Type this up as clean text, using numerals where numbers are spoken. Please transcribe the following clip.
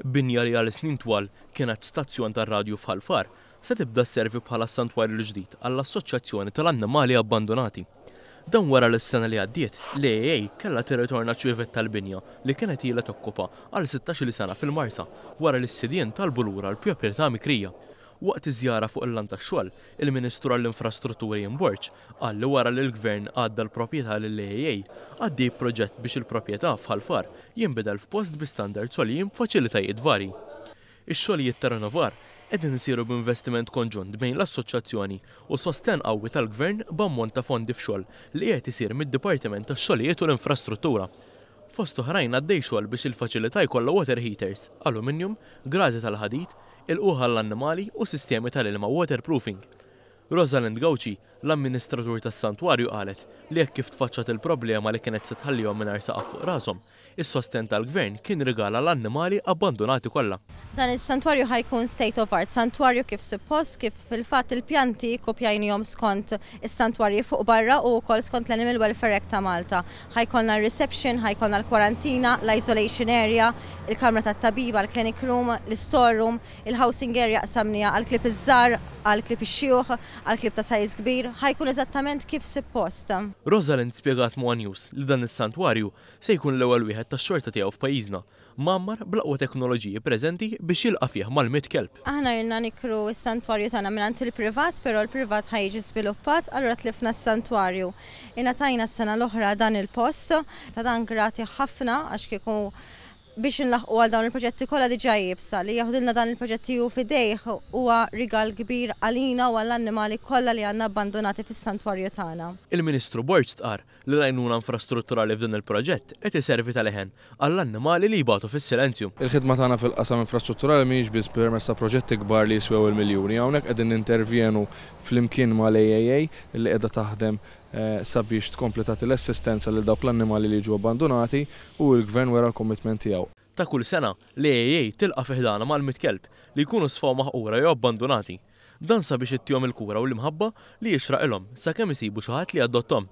Binja li għal snin twal kienet stazzjon tar-radju f'Ħal Far se tibda sservi bħala s-santwarju l-ġdid għall-Assoċjazzjoni tal-Annimali Abbandunati. Dan wara li s-sena li għaddiet, l-AAA kellha tirritorna ċ-ċwievet tal-binja li kienet ilha tokkupa għal sittax-il sena fil-Marsa wara li s-sidien talbu lura l-proprjetà mikrija. Waqt iż-żjara fuq il-lant tax-xogħol, il-Ministru għall-Infrastrutturi Ian Borg qal li wara li l-Gvern għadda l-proprjetà lill-AAA, għaddej proġett biex il-proprjetà f'Ħal Far jinbidel f'post bi standards għoljin b'faċilitajiet varji. Ix-xogħlijiet ta' rinnovar qegħdin isiru b'investiment konġunt bejn l-Assoċjazzjoni u sostenn qawwi tal-Gvern b'ammont ta' fondi f'xogħol li qiegħed isir mid-Dipartiment tax-Xogħlijiet u l-Infrastruttura. Fost oħrajn għaddej xogħol biex il-faċilità jkollha water heaters, aluminium, gradi tal-ħadid, ilqugħ għall-annimali u sistemi tal-ilma waterproofing. Rosalind Gauci, l-amministratur tas-santwarju qalet li hekk kif tfaċċat il-problema li kienet se tħallihom mingħajr saqaf fuq rashom, is-sostenn tal-Gvern kien rigal għall-annimali abbandunati kollha. Dan is-santwarju ħa jkun state of art, santwarju kif suppost, kif fil-fatt il-pjanti kkupjajnihom skont is-santwarji fuq barra u wkoll skont l-Animal Welfare Act ta' Malta. Ħa jkollna r-reception, ħa jkollna l-kwarantina, l-isolation area, il-kamra tat-tabiba, l-clinic room, l-store room, il-housing area qsamniha għall-klieb iż-żgħar, għall-klieb ix-xjuħ, għall-klieb ta' size kbir. Ħa jkun eżattament kif suppost. Rosalind spjegat ma' one News li dan is-santwarju se jkun l-ewwel wieħed tax-xorta tiegħu f'pajjiżna mgħammar bl-aqwa teknoloġiji preżenti biex jilqa' fih mal-100 kelb. Aħna ilna nikru s-santwarju tagħna mingħand il-privat, però l-privat ħa jiġi żviluppat, allura tlifna s-santwarju. Ingħatajna s-sena l-oħra dan il-post, ta' dan grati ħafna għax kieku biex inlaħħqu għal dawn il-proġetti kollha diġà iebsa. Li jeħdilna dan il-proġetti hu f'idejh huwa rigal kbir għalina u għall-annimali kollha li għandna abbandunati fis-santwarju tagħna. Il-Ministru Borg stqarr li l-għajnuna infrastrutturali f'dan il-proġett qed iservi ta' leħen għall-annimali li jbatu fis-silenzju. Il-ħidma tagħna fil-qasam infrastrutturali mhijiex biss permezz ta' proġetti kbar li jiswew il-miljuni. Hawnhekk qegħdin nintervjenu flimkien mal-AAA li qiegħda taħdem sabiex tkompli tagħti l-assistenza lil dawk l-annimali li jiġu abbandunati u l-Gvern wera l-commitment tiegħu. Ta' kull sena, l-AAA tilqa' fi ħdanha mal-100 kelb li jkunu sfaw maħqura jew abbandunati. Dan sabiex ittihom il-kura u l-imħabba li jixraqilhom sakemm isibu xi ħadd li jadotthom.